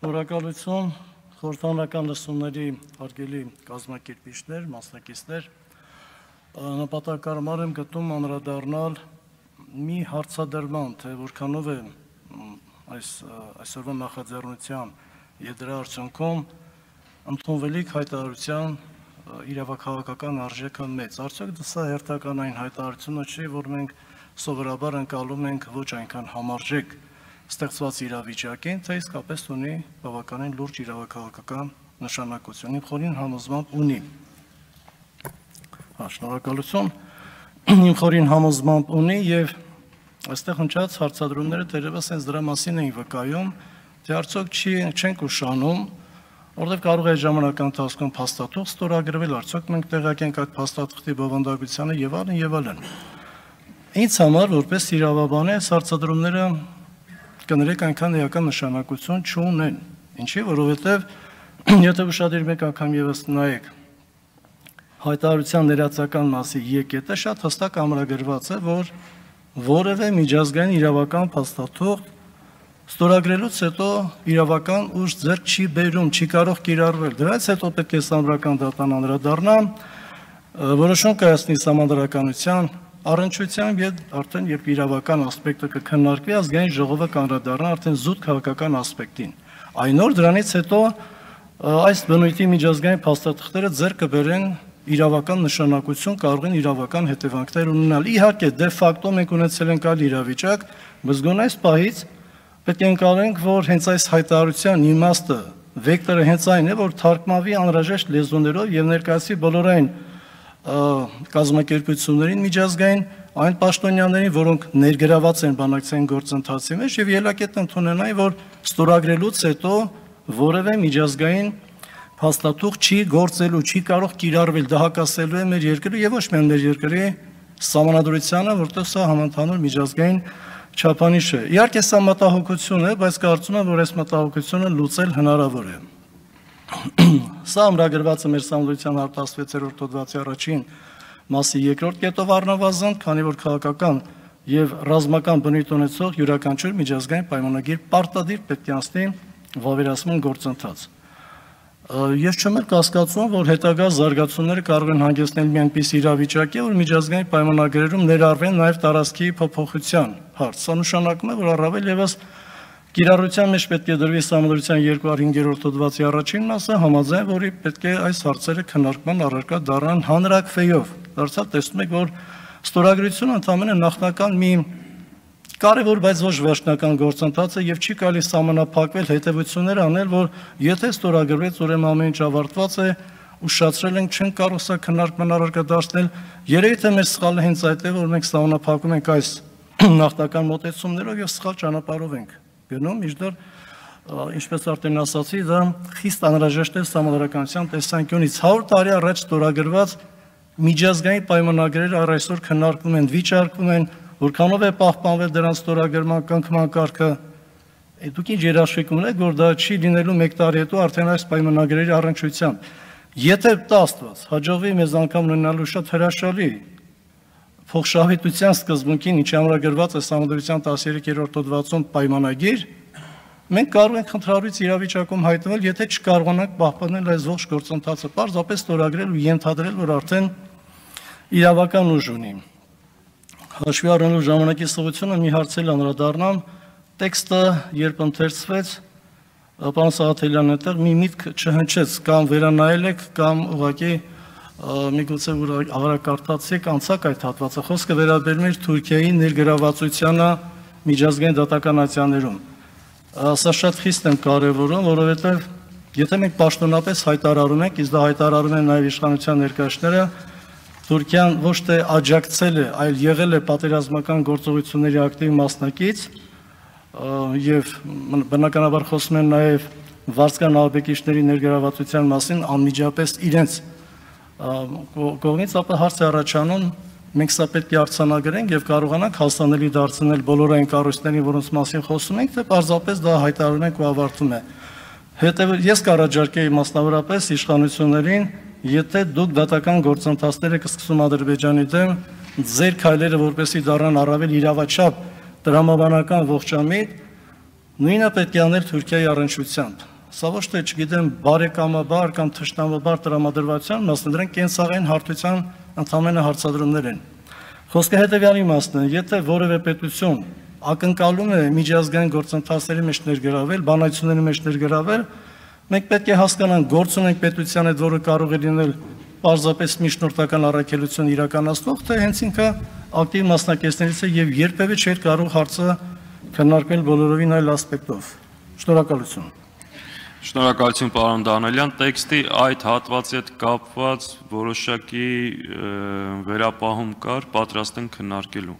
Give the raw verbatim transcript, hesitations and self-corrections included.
Շնորհակալություն խորհրդանական լսումների հարգելի կազմակերպիչներ, մասնակիցներ, նպատակարար եմ գտնում անդրադառնալ մի հարցադրման, թե որքանով է այս այսօրվա նախաձեռնության եւ դրա արդյունքում ընդունվելիք հայտարարության իրավաքաղաքական արժեքը մեծ։ Արդյոք դա հերթական այն հայտարարությունը չի, որ մենք սովորաբար ընկալում ենք ոչ այնքան համարժեք ստեղծված իրավիճակին, թե իսկապես ունի բավականին լուրջ իրավաքաղաքական նշանակություն, իմ խորին համոզմամբ ունի։ Շնորհակալություն, իմ խորին համոզմամբ ունի եւ այստեղ հնչած հարցադրումները դերևս հենց դրա մասին էին վկայում, թե արդյոք չի չենք ուշանում, որտեղ կարող է ժամանակական ընթացքում փաստաթուղթ ստորագրվել, արդյոք մենք տեղյակ ենք այդ փաստաթղթի բովանդակությանը եւ այլն եւ այլն։ Ինձ համար որպես իրավաբան այս հարցադրումները կներեք այնքան էական նշանակություն չունեն, ինչի, որովհետև եթե ուշադիր մեկ անգամ ևս նայեք հայտարարության ներածական մասի եկետը շատ հստակ ամրագրված է, որ որևէ միջազգային իրավական փաստաթուղթ ստորագրելուց հետո իրավական ուժ ձեռք չի բերում, չի կարող կիրառվել։ Դրանից հետո պետք է սահմանադրական դատան անդրադառնալ, որոշում կայացնի սահմանադրականության առնչությամբ եւ արդեն երբ իրավական ասպեկտը կքննարկվի, ազգային ժողովը կանդրադառնա արդեն զուտ քաղաքական ասպեկտին։ Այն օր դրանից հետո այս բնույթի միջազգային փաստաթղթերը ձեռք կբերեն իրավական նշանակություն, կարող են իրավական հետևանքներ ունենալ։ Իհարկե, դե ֆակտո մենք ունեցել ենք այլ իրավիճակ, բայց գոնե այս պահից պետք է ընկալենք, որ հենց այս հայտարարության իմաստը, վեկտորը հենց այն է, որ թարգմանվի անհրաժեշտ լեզուներով եւ ներկայացվի բոլորային կազմակերպություններին միջազգային այն պաշտոնյաներին, որոնք ներգրաված են բանակցային գործընթացի մեջ եւ ելակետ ընդունենային, որ ստորագրելուց հետո որևէ միջազգային փաստաթուղթ չի գործելու, չի կարող կիրառվել, դա հակասելու է մեր երկրի եւ ոչ միայն մեր երկրի սահմանադրությանը, որտեղ սա համընդհանուր միջազգային չափանիշ է։ Իհարկե սա մտահոգություն է, բայց կարծում եմ, որ այս մտահոգությունը լուծել հնարավոր է։ Սա ամրագրված է մեր սահմանադրության հարտահասվեցերորդ հոդվածի առաջին մասի երկրորդ կետով առնվազն, քանի որ քաղաքական եւ ռազմական բնույթ ունեցող յուրաքանչյուր միջազգային պայմանագիր պարտադիր պետք է անցնի վավերացման գործընթաց։ Ես չեմ էլ կասկածում, որ հետագա զարգացումները կարող են հանգեցնել մի այնպիսի իրավիճակի, որ միջազգային պայմանագրերում ներառվեն նաեւ տարածքի փոփոխության հարց։ Սա նշանակում է, որ առավել եւս կիրառության մեջ պետք է դրվի սահմանադրության երկու հարյուր հինգերորդ հոդվածի առաջին մասը, համաձայն որի պետք է այս հարցերը քննարկման առարկա դառնան հանրակրվեով։ Դարձյալ տեսնում եք, որ ստորագրությունը ընդհանրապես նախնական մի կարևոր, բայց ոչ վերջնական գործընթաց է եւ չի կարելի սահմանափակվել հետեւություններ անել, որ եթե ստորագրվեց, ուրեմն ամեն ինչ ավարտված է, ուշացրել ենք, չենք կարող սա քննարկման առարկա դարձնել։ Երևի թե մեր սխալը հենց այդ է, որ մենք սահմանափակում ենք այս նախնական մոտեցումներով եւ սխալ ճանապարհով ենք գնում, մինչդեռ ինչպես արդեն ասացի, դա խիստ անհրաժեշտ է սահմանադրականության տեսանկյունից։ հարյուր տարի առաջ ստորագրված միջազգային պայմանագրերը առ այսօր քննարկվում են, վիճարկվում են, որքանով է պահպանվել դրանց ստորագրման կնքման կարգը։ Դուք ինչ երաշխիք ունեք, որ դա չի լինելու մեկ տարի հետո արդեն այս պայմանագրերի առնչությամբ։ Եթե տա Աստված հաջողվի մեզ անգամ ունենալու շատ հրաշալի փոխշահվետության սկզբունքին, ինչի ամրագրված է սահմանադրության տասներկերորդ հոդվածում պայմանագիր, մենք կարող ենք խնդրալուց իրավիճակում հայտնվել, եթե չկարողանանք պահպանել այս ողջ գործընթացը, պարզապես ստորագրել ու ենթադրել, որ արդեն իրավական ուժ ունի։ Հաշվի առնելով ժամանակի սղությունը մի հարցել անդրադառնամ, տեքստը երբ ընթերցվեց, պարոն Սաղաթելյան, այդտեղ մի միտք չհնչեց, կամ վերանայել եք, կամ ուղղակի միգուցե որ ավարակարտացիք անցակ այդ հատվածը, խոսքը վերաբերում էր Թուրքիայի ներգրավվածությանը միջազգային դատականացիաներում։ Սա շատ խիստ եմ կարևորում, որովհետև եթե մենք պաշտոնապես հայտարարում ենք, իսկ դա հայտարարում են նաև իշխանության ներկայացուցիչները, Թուրքիան ոչ թե աջակցել է, այլ եղել է պատերազմական գործողությունների ակտիվ մասնակից եւ բնականաբար խոսում են նաև վարձկան ալբեկիչների ներգրավվածության մասին անմիջապես իրենց կողմից, ապա հարց է առաջանում, մենք սա պետք է արձանագրենք եւ կարողանանք հասանելի դարձնել բոլոր այն կառույցներին, որոնց մասին խոսում ենք, թե պարզապես դա հայտարարում ենք ու ավարտում է։ Հետևը ես կառաջարկեի մասնավորապես իշխանություններին, եթե դուք դատական գործընթացները կսկսում Ադրբեջանի դեմ, ձեր քայլերը որպեսզի դառնան առավել իրավաչափ տրամաբանական ողջամիտ, նույնը պետք է անել Թուրքիայի առնչությամբ։ սա ոչ թե չգիտեմ բարեկամաբար կամ թշնամաբար տրամադրվածության, մասն դրանք կենսաղային հարթության ընդհանրապես հարցադրումներ են։ Խոսքը հետևյալ իմաստն է, եթե որևէ պետություն ակնկալում է միջազգային գործընթացների մեջ ներգրավել, բանակցությունների մեջ ներգրավել, մենք պետք է հասկանանք, գործ ունենք պետության հետ, որը կարող է լինել պարզապես միջնորդական առաքելություն իրականացնող, թե հենց ինքը ակտիվ մասնակիցներից է եւ երբևէ չէր կարող հարցը քննարկել բոլորովին այլ ասպեկտով։ Շնորհակալություն։ Շնորհակալություն պարոն Դանելյան, տեքստի այդ հատվածի հետ կապված որոշակի վերապահում կար, պատրաստ են քննարկելու։